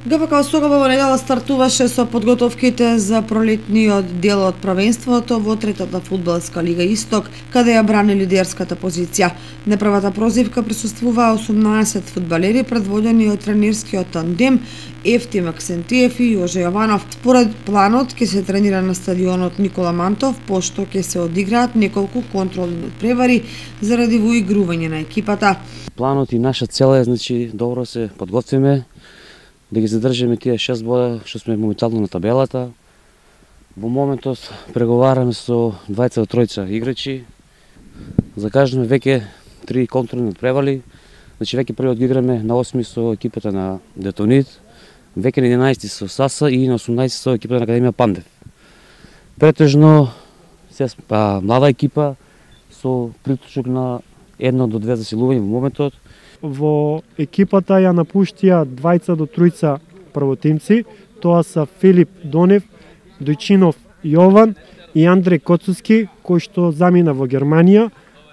ГФК Осогово во недела стартуваше со подготовките за пролетниот дел од првенството во третата фудбалска лига Исток, каде ја брани лидерската позиција. На првата прозивка присуствуваа 18 фудбалери предводени од тренерскиот тандем Ефти Максентиев и Јоже Јованов. Според планот ќе се тренира на стадионот Никола Мантов, пошто ќе се одиграат неколку контролни надпревари заради воигрување на екипата. Планот и наша цел е, добро се подготвиме, да ги задржиме тие 6 бода што сме моментално на табелата. Во моментот преговараме со 2 до 3 играчи. Закажаме веќе 3 контролни надпревари. Веќе првиот ги играме на 8 со екипата на Детонит, веќе на 11 со Саса и на 18 со екипата на Академија Пандев. Претежно се млада екипа со приклучок на 1 до 2 засилување во моментот. Во екипата ја напуштија 2 до 3 првотимци, тоа се Филип Донев, Дојчинов Јован и Андреј Коцуски, кој што замина во Германија,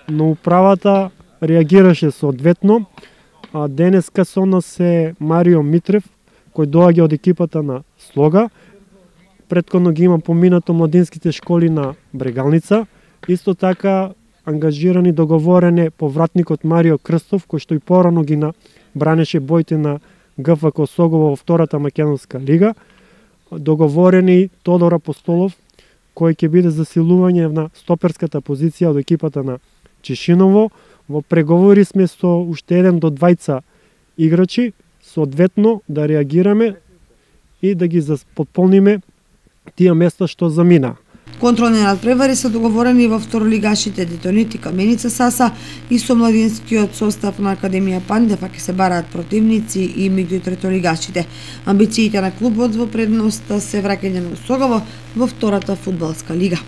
но управата реагираше соодветно. Денеска со нас е Марио Митрев, кој доаѓа од екипата на Слога. Претходно ги има поминато младинските школи на Брегалница. Исто така ангажирани договорен повратникот Марио Крстов, кој што и порано ги бранеше боите на ГФК Осогово во втората македонска лига. Договорени Тодор Апостолов, кој ќе биде засилување на стоперската позиција од екипата на Чешиново. Во преговори сме со уште 1 до 2 играчи, соодветно да реагираме и да ги подполниме тие места што замина. Контролни надпревари се договорени во второлигашите Детонит и Каменица Саса и со младинскиот состав на Академија Пандев, ќе се бараат противници и меѓу третолигашите. Амбициите на клубот во предност се враќање на Осогово во втората фудбалска лига.